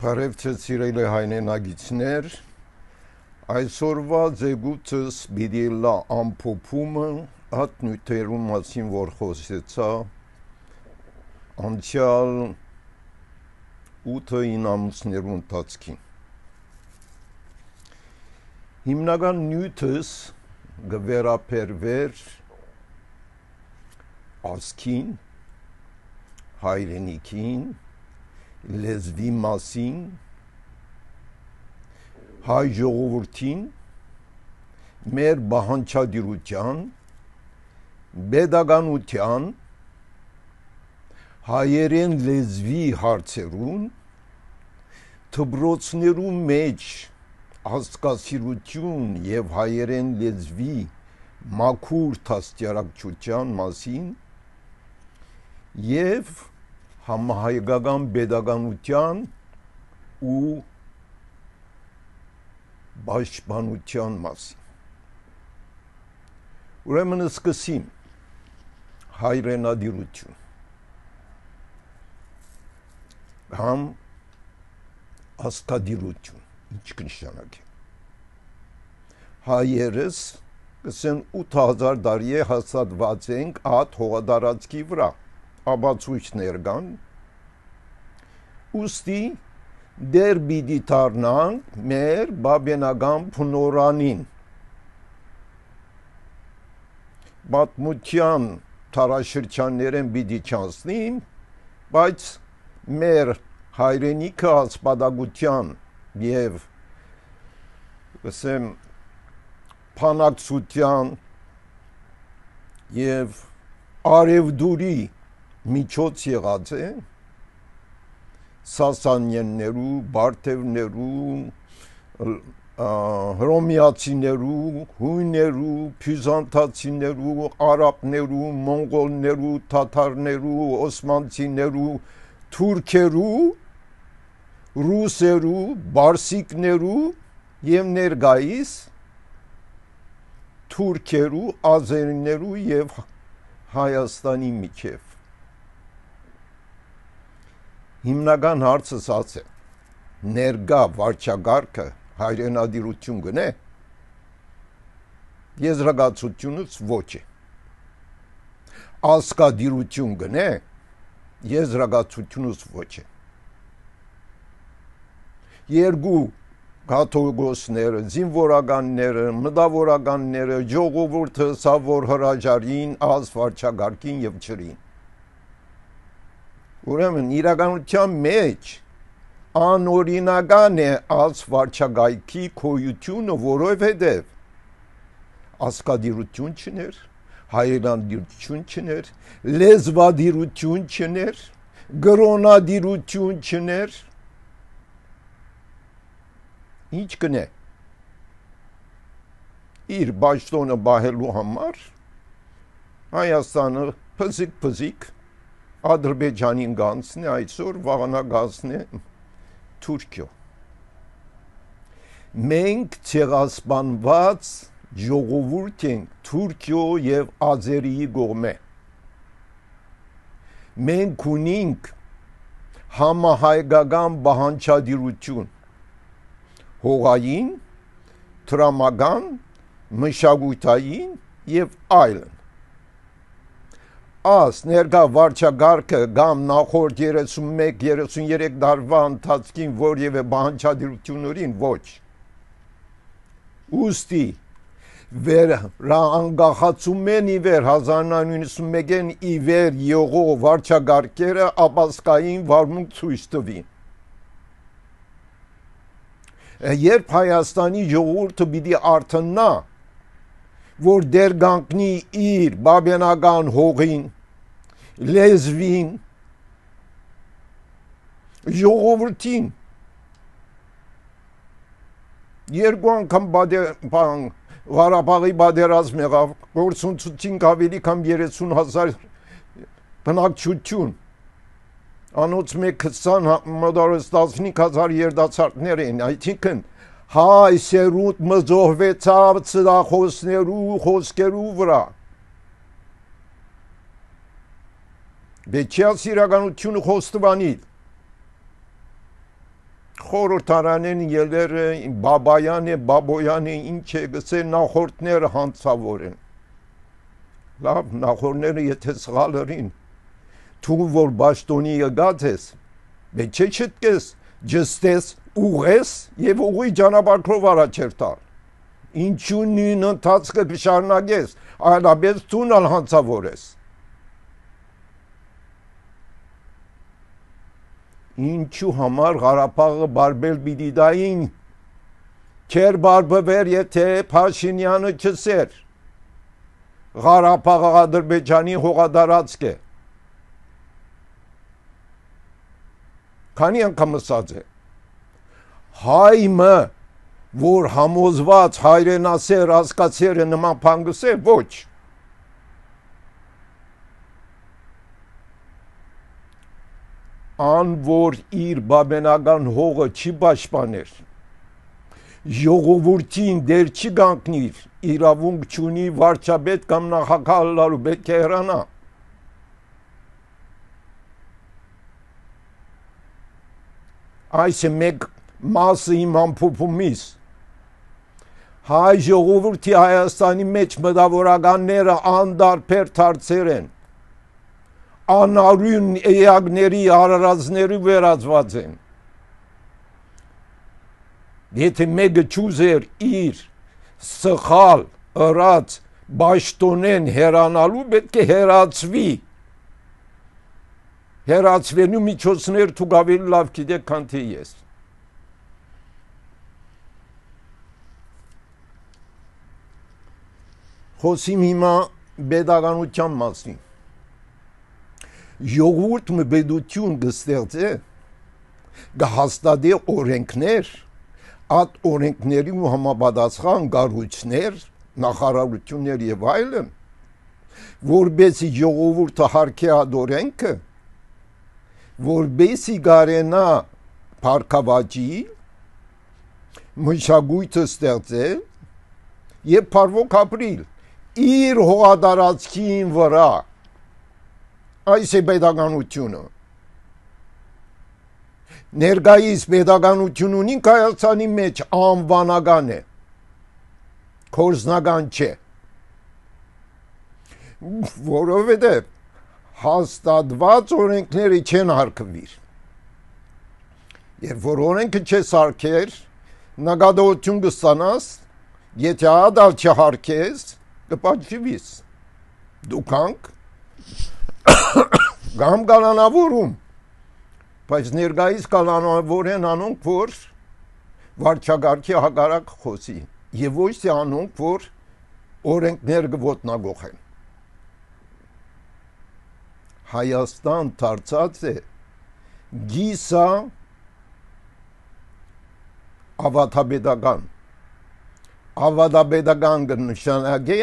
Բարևձեզ սիրելի հայրենագիտներ, այսօրվա ձեգուտս պիտի լա ամփոփումը այդ նյութերու մասին, որ խոսեցա անցյալ 8-9 ամիսներու ընթացքին։ Հիմնական նյութս գվերապերվեր ազգին, հայրենիքին, լեզվի մասին, հայ ժողովրդին, մեր բանջարդիրության, pedagogiության, հայերեն լեզվի հարցերուն, դպրոցներու մեջ հասկացություն եւ հայերեն լեզվի մաքուր դաստիարակչության մասին եւ համահայկական pedagogiության ու պաշտպանության մասին։ Ուրեմն սկսեմ հայրենադիրություն կամ աստադիրություն, ինչ կնշանակի։ Հայերս կսեն 8000 տարի է հաստատված ենք այդ հողատարածքի վրա, ապացույցներ կան, ուստի դեր պիտի դառնանք մեր բաբենական փնորանին, պատմության թարաշրջաններեն պիտի չանցնին, բայց մեր հայրենիքը ասպատակության եւ ասեմ փանակցության եւ արևդուրի միջոց եղած է սասանյաններու, բարթևներու, հռոմեացիներու, հույներու, բյուզանդացիներու, արաբներու, մոնղոլներու, թաթարներու, օսմանցիներու, թուրքերու, ռուսերու, բարսիկներու եւ ներկայիս թուրքերու, ազերիներու եւ Հայաստանի միջև։ Հիմնական հարցը սաց է, ներկա վարչագարկը հայրենադիրություն գնե, եզրակացությունից ոչ է, ազգադիրություն գնե, եզրակացությունից ոչ է։ Երկու կաթողիկոսները, զինվորականները, մտավորականները, ժողովուրդը սա որ հրաժարին ազ վարչագարկին եւ չրին։ Ուրեմն իրականության մեջ անօրինական է ազ վարչագայքի քոյությունը, որովհետեւ ազգադիրություն չներ, հայրենադիրություն չներ, լեզվադիրություն չներ, գրոնադիրություն չներ, ինչ կնե իր բաշտոնը բահելու համար Հայաստանը փզիկ Ադրբեջանին գանցնի, այսօր վաղանա գանցնի Թուրքիո։ Մենք ցեղասպանված ժողովուրդ ենք Թուրքիո եւ Ազերիի կողմէ։ Մենք ունենք համահայկական բանջարդիրություն հողային, տրամական, մշակութային եւ այլն։ Աս ներկա վարչագարկը կամ նախորդ 31-33 տարվա ընթացքին որևէ բանջարդիրություններին ոչ։ Ուստի անկախացումեն ի վեր 1991-ին ի վեր եղող վարչագարկերը ապասկային վարմունք ցույց տվին։ Երբ Հայաստանի ժողովուրդը պիտի արթնա, որ դեր կանգնի իր բաբենական հողին, լեզվին, ժողովրդին, երկու անգամ Ղարաբաղի պատերազմ եղավ, գործունեություն ավելի քան 30,000 բնակչություն, անոց մեկ 20 մոտորս 15,000 երդացարտներ են, այսինքն հայ սերունդ մզոհվեցավ ծրախոսներու խոսքերու վրա։ Բեչյաս իրականությունը խոստովանիլ։ խորհրդարանեն ելերը Բաբայան է, Բաբոյան է, ինչ է գսել նախորդները հանցավոր են։ Լավ, նախորդները եթե սխալ ըրին, թու որ բաշտոնի եկած ես, բայց չէ չտկես, ջստես, ուղես եւ ուղի ճանապարհով առաջերտալ։ Ինչու նույն ընթացքը կշարունակես, այլապես ցունալ հանցավոր ես։ Ինչու համար Ղարաբաղը բարբել պիտի դային, չեր բարբվեր, եթե Փաշինյանը չսեր։ Ղարաբաղը Ադրբեջանի հողադարածք է։ Քանի անգամ ասած է։ Հայմը, որ համոզված հայրենասեր ասկացերը նման փանգս է, ոչ։ Ան որ իր բաբենական հողը չի պաշտպաներ, ժողովրդին դեր չի գանքնիր, իրավունք չունի վարչապետ կամ նախագահ լալու, պետք է հեռանա։ Այս է մեկ մասը իմ ամփոփումից։ Հայ ժողովրդի Հայաստանի մեջ մտավորականները անդարբեր դարձեր են, անարյուն էակների արարածների վերածված են։ Եթե մեկը չուզեր իր սխալ ըրած բաշտոնեն հեռանալու, պետք է հեռացվի։ Հեռացվելու միջոցներ դուք ավելի լավ գիտեք, քան թե ես։ Խոսիմ հիմա պետականության մասին։ Ժողովուրդը պետություն կստեղծե, կհաստատի օրենքներ, այդ օրենքների ու համապատասխան կառույցներ, նախարարություններ եւ այլն, որբեսի ժողովուրդը հարգի այդ օրենքը, որբեսի կարենա փառքավաճի, մշակույթը ստեղծել եւ փառվոք ապրիլ իր հողատարածքին վրա։ Այս է պետականությունը։ Ներկայիս պետականություն ունին Հայաստանի մեջ անվանական է, կորզնական չէ, որովհետև հաստատված օրենքները չեն հարգվիր։ Երբ որ օրենքը չես հարգեր, նկատողություն կստանաս, եթե ադալ չհարգես, կպատժվիս։ Դուքանք կամ կանանավորում, բայց ներկայիս կանանավոր են անոնք, որ վարչագարքի հակառակ խոսի, եւ ոչ թե անոնք, որ օրենքներ կոտնագողեն։ Հայաստան դարձած է գիսա ավատաբեդական։ Ավատաբեդական կնշանակե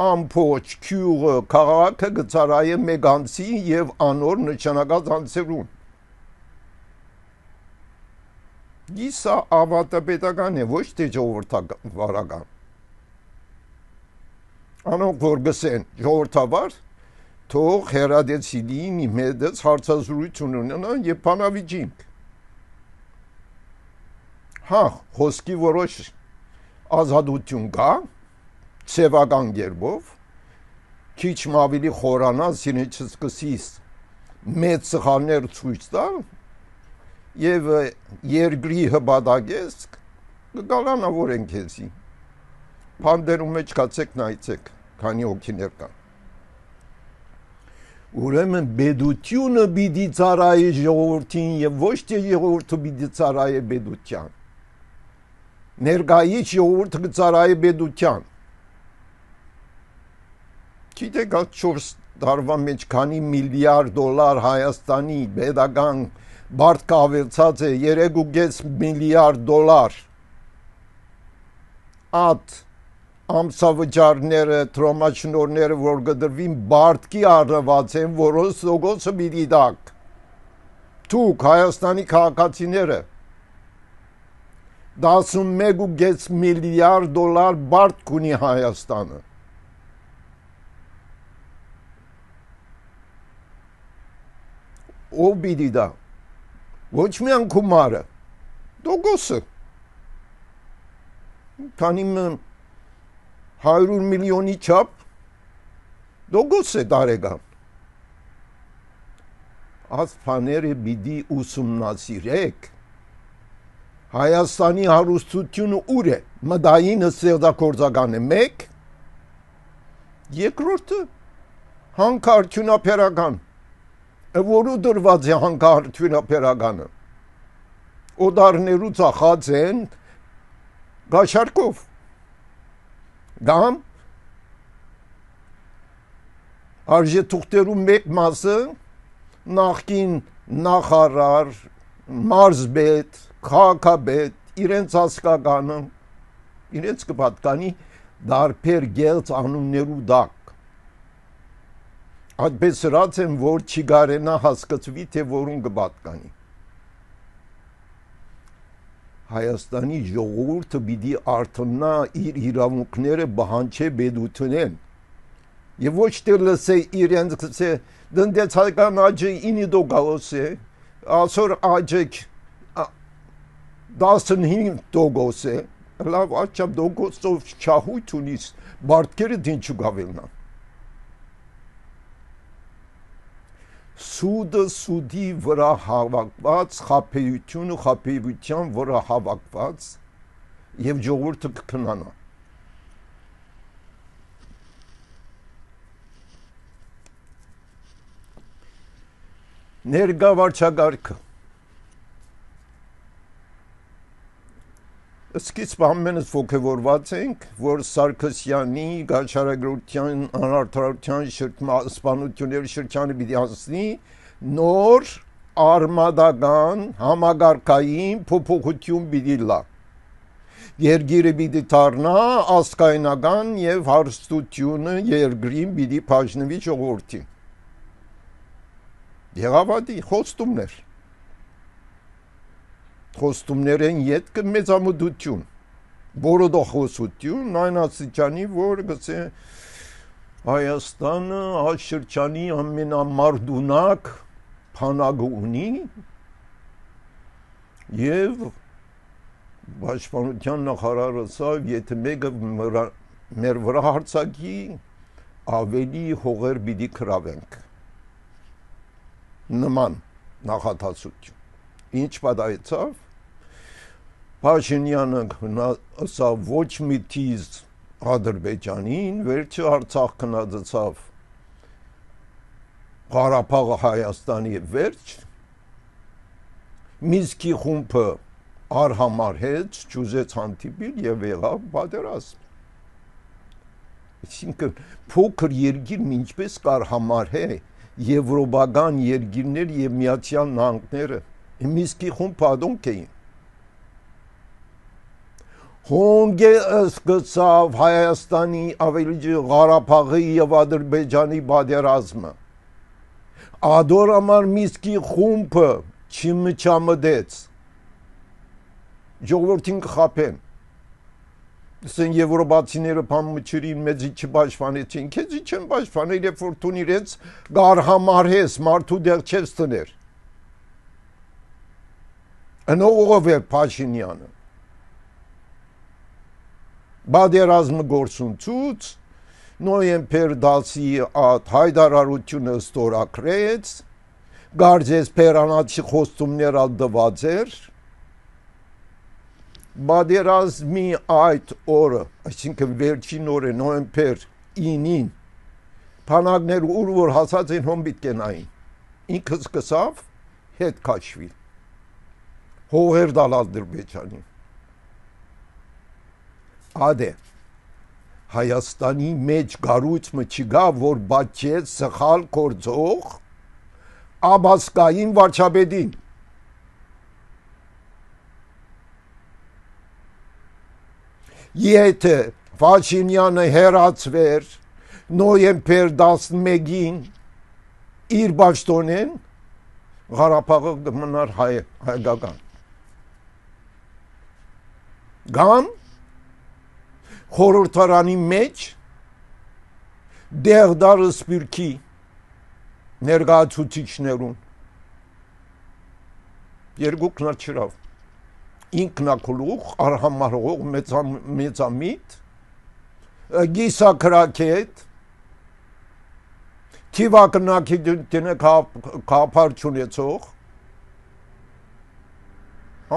ամփոփ քյուղը քաղաքը գծարայը մեկ անցի եւ անոր նշանակած անցերուն։ Գիսա ավատապետական է, ոչ թե ժողովրդավարական։ Անոնք որ գսեն ժողովրդավար, թող հերադեցի լինի մեդից հարցազրույցություն ունենան եւ բանավիճենք։ Հա, խոսքի որոշ ազատություն կա, սևական գերբով, քիչ ավելի խորանաս, իրեն չսկսիս մեծ սխալներ ցույց տալ եւ երկրի հպատակես կգալանավորեն քեզի։ Փանդերում մեջ կացեք նայեցեք, քանի հոգիներ կան։ Ուրեմն բեդությունը պիտի ծառայի ժողովրդին եւ ոչ թե ժողովուրդը պիտի ծառայի բեդության։ Ներկայից ժողովուրդը կծառայի բեդության։ Գիտեք, 4 տարվա մեջ քանի միլիարդ դոլար Հայաստանի պետական բարձր ավելցած է 3.5 միլիարդ դոլար։ Այդ ամսավճարները, տրոմաշնորհները, որ կդրվին բարձի առնված են, որոնց լոգոսը պիտի դակ։ Դուք Հայաստանի քաղաքացիները 11.5 միլիարդ դոլար բարձ ունի Հայաստանը։ Ով պիտի դա, ոչ միայն գումարը, դոգոսը, քանի 100 միլիոնի չափ դոգոս է տարեկան։ Այս բաները պիտի ուսումնասիրեք։ Հայաստանի հարստությունը ուր է։ Մտային ստեղծագործական է 1, երկրորդը հանքարդյունաբերական, որու դրված է հանքարդյունաբերականը։ Օդարներու ծախած են գաշարկով, կամ արժեթուղթերու մեկ մասը նախկին նախարար, մարզպետ, քաղաքապետ իրենց հասկականը, իրենց կպատկանի դարբեր գեղձ անուններու դակ։ Այդպես սրած են, որ չի կարենա հասկացվի, թե որուն կպատկանի։ Հայաստանի ժողովուրդը պիտի արթնա իր իրավունքները բանջե բեդութունեն եւ ոչ թե լսե իրենց դնդեցական աճը 9% է, այսօր աճը 15% է, լավ աճապ դոգոսով չահույթ ունիս, բարտկերը դինչու գավելնա։ Սուդը սուդի վրա հավաքված, խաբեությունը խաբեության վրա հավաքված եւ ժողովուրդը կքնանա։ Ներկա վարչակարգը սկիզբ ամենս ոգևորված ենք, որ Սարգսյանի գաչարագրության անարդարության սպանությունների շրջանը պիտի հասնի նոր արմադական համագարկային փոփոխություն պիտի լա։ Երկիրը պիտի դառնա ազգայնական եւ հարստությունը երկրին պիտի բաժնվի ժողովրդին։ Եղավատի խոստումներ։ Խոստումներեն ետքը մեծամտություն, բորոդոխոսություն, այն աստիճանի, որ գցե Հայաստանը այս շրջանի ամենամարդունակ փանագը ունի եւ Պաշտպանության նախարարը ասավ, եթե մեկը մեր վրա հարձակի, ավելի հողեր պիտի քրավենք։ Նման նախատասություն։ Ինչ պատահեցավ։ Փաշինյանը ասավ ոչ մի թիզ Ադրբեջանին, վերջը Արցախ քննադարձավ Ղարաբաղը Հայաստանի վերջ, Մինսկի խումբը արհամարհեց, ճուզեց հանդիպիլ եւ եղավ պատերազմ։ Այսինքն փոքր երկիր ինչպես կար համարհե եվրոպական երկիրներ եւ Միացյալ Նահանգները Մինսկի խումբը ադոնք էին։ Հոնգե սկսավ Հայաստանի ավելի Ղարաբաղի եւ Ադրբեջանի պատերազմը։ Ադորամար Մինսկի խումբը չմչամդեց։ Ժողովրդին կխափեն։ Ասեն եվրոպացիները փամուչերին մեծի չպաշտպանեցին, քեզի չեն պաշտպանել, երբ որ տուն իրենց գարհամարհես մարդու դեղ չես տներ։ Անողով է Փաշինյանը։ Պատերազմը գործունցուց, նոյեմբեր 10-ի հայտարարությունը ստորագրեց, գարձես պերանացի խոստումներ ալդված էր, պատերազմի այդ օրը, այսինքն վերջին օրը նոյեմբեր 9-ին, փանագներ ուր որ հասած են հոմբիտ կենային, ինքը սկսավ հետ քաշվի, հողեր դալ Ադրբեջանին։ Ադե Հայաստանի մեջ գառույցը չկա, որ բաչեց սխալ գործող աբասկային վարչապետին։ Եթե Փաշինյանը հերացվեր նոյեմբեր 11-ին իր պաշտոնեն, Ղարաբաղը կմնար հայկական։ Կամ խորհրդարանի մեջ դեղդարը սպիրկի ներկայացուցիչներուն երկուքն չրավ ինքնակլուխ արհամարող մեծամիտ գիսակրակետ թիվակնակի դինը կապար չունեցող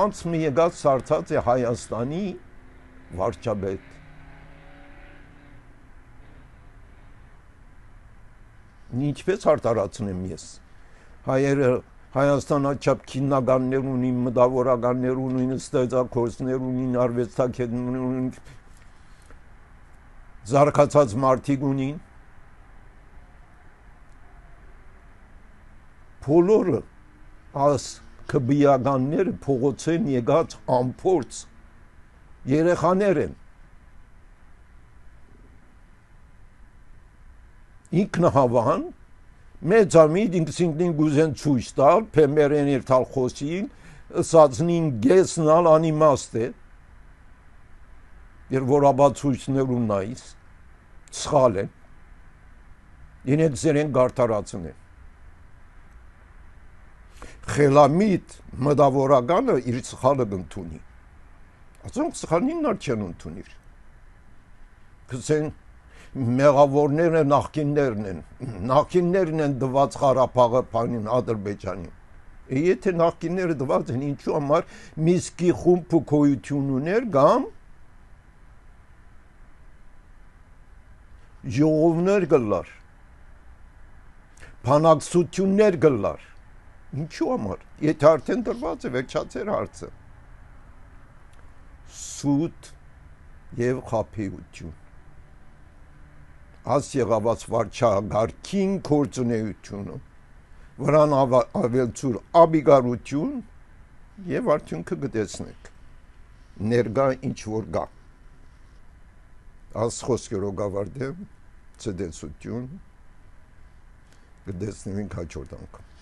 անց մի եկած սարցած է Հայաստանի վարչապետ ինչպես արտարացնեմ ես հայերը Հայաստանը չափ քիննականներ ունին, մտավորականներ ունին, ստեղծագործներ ունին, արվեստագետներ ունին, զարգացած մարդիկ ունին։ Բոլորը աս քբիականները փողոցեն եկած ամփորձ երեխաներ են։ Ինքնահավան մեծամիտ ինքսինքնին գուզեն ցույց տալ, փեմերեն իր տալ խոսին, ըսածնին գեսնալ անիմաստ է, երբ որ աբացույցներուն նայիս, սխալ են, ինեք զերեն գարտարացն է։ Խելամիտ մտավորականը իր սխալը գնդունի, ասոնք սխալին նար չեն ընդունիր, կսեն մեղավորները նախկիններն են դված Ղարաբաղը փանին Ադրբեջանին։ Եթե նախկինները դված են ինչու համար Միսկի խումբը գոյություն ուներ կամ ժողովներ գլար, բանակցություններ գլար։ Ինչու համար։ Եթե արդեն դրված է վերջացեր հարցը։ Սուտ եւ խաբեություն։ Աս եղավաց վարչագարքին գործունեությունը, վրան ավելցուր աբիգարություն և արդյունքը գտեցնեք, ներգա ինչ որ գա, աս խոսքերով գավարդեմ, ցդեցություն, գտեցնենք հաջորդ անգամ։